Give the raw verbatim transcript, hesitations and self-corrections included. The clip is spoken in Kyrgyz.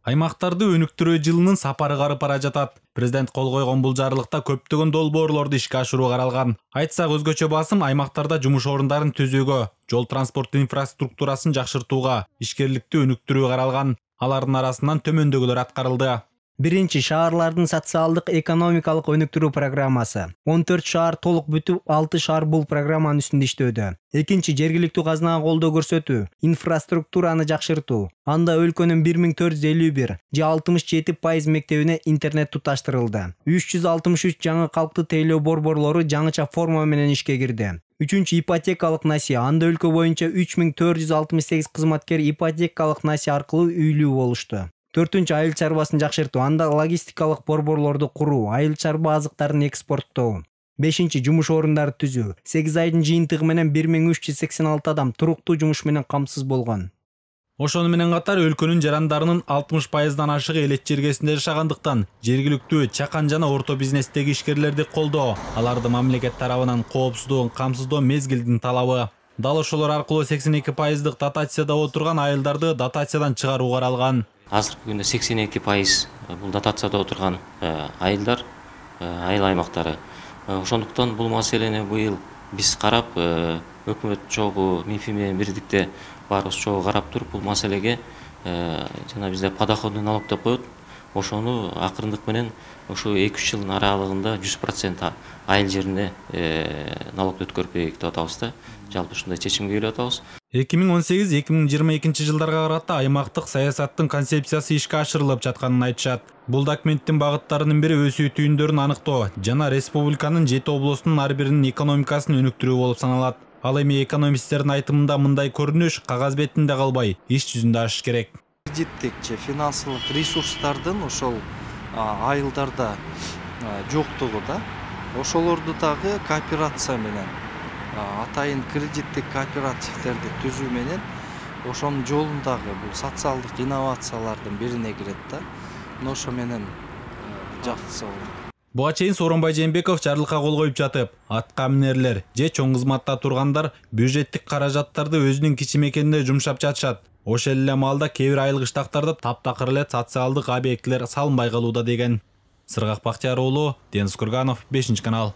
Аймактарды өнүктүрүү жылынын сапары карып бара жатат. Президент кол койгон бул жарлыкта көптөгөн долбоорлорду ишке ашыруу каралган. Айтсак, өзгөчө басым аймактарда жумуш орундарын түзүүгө, жол транспорт инфраструктурасын жакшыртууга, ишкерликти өнүктүрүүгө каралган. Алардын арасынан төмөндөгүлөр аткарылды. Биринчи, шаарлардын социалдык экономикалык өнүктүрүү программасы. он төрт шаар толук бүтүп, алты шаар бул программанын үстүндө иштөөдө. Экинчи, жергиликтүү казынага колдоо көрсөтүү, инфраструктураны жакшыртуу. Анда өлкөнүн бир миң төрт жүз элүү бир же алтымыш жети пайыз мектебине интернет туташтырылды. үч жүз алтымыш үч жаңы калктуу тейлөө борборлору жаңыча форма менен ишке кирди. Үчүнчү, ипотекалык насие. Анда өлкө боюнча үч миң төрт жүз алтымыш сегиз кызматкер ипотекалык насие аркылуу үйлүү болушту. Төртүнчү, айыл чарбасын жакшыртуу. Анда логистикалык борборлорду куруу, айыл чарба азыктарын экспорттоо. Бешинчи, жумуш орундары түзүү. сегиз айдын жыйынтыгы менен бир миң үч жүз сексен алты адам туруктуу жумуш менен камсыз болгон. Ошону менен катар өлкөнүн жарандарынын алтымыш пайыздан ашыгы элет жергесинде жашагандыктан жергиликтүү чакан жана орто бизнестеги ишкерлерди колдоо, аларды мамлекет тарабынан коопсуздугун камсыздоо мезгилдин талабы. Дал ошолор аркылуу сексен эки пайыздык дотацияда отурган айылдарды дотациядан чыгаруу каралган. Азыркы күндө сексен эки пайыз бул дотацияда отурган айылдар, айыл аймактары. Ошондуктан бул маселени быйыл биз карап, өкмөт чогуу МИФИ менен бирдикте баарыбыз чогуу карап туруп, бул маселеге жана бизде подоходный налог деп коет. Ошону акырындык менен ушу эки үч жылдын аралыгында жүз процент айыл жерине налогду өткөрүп берейик деп атабыз да. Жалпы ушундай чечимге келип атабыз. эки миң он сегиз эки миң жыйырма экинчи жылдарга карата аймактык саясаттын концепциясы ишке ашырылып жатканын айтышат. Бул документтин багыттарынын бири өсүү түйүндөрүн аныктоо жана республиканын жети облустунун ар биринин экономикасын өнүктүрүү болуп саналат. Ал эми экономисттердин айтымында мындай көрүнүш кагаз бетинде калбай, иш жүзүндө ашыш керек. Кредиттик же финансылык ресурстардын ошол айылдарда жоктугу да, ошолорду дагы кооперация менен, атайын кредиттик кооперативдерди түзүү менен ошонун жолундагы бул социалдык инновациялардын бирине кирет да. Ошо менен жакшы болот. Буга чейин Сооронбай Жээнбеков жарлыкка кол коюп жатып, атка минерлер же чоң кызматта тургандар бюджеттик каражаттарды өзүнүн кичи мекенинде жумшап жатышат. Ошол эле маалда кээ бир айыл кыштактарда таптакыр эле социалдык объектилер салынбай калууда деген. Сыргак Бактияр уулу, Дениз Курганов, бешинчи канал.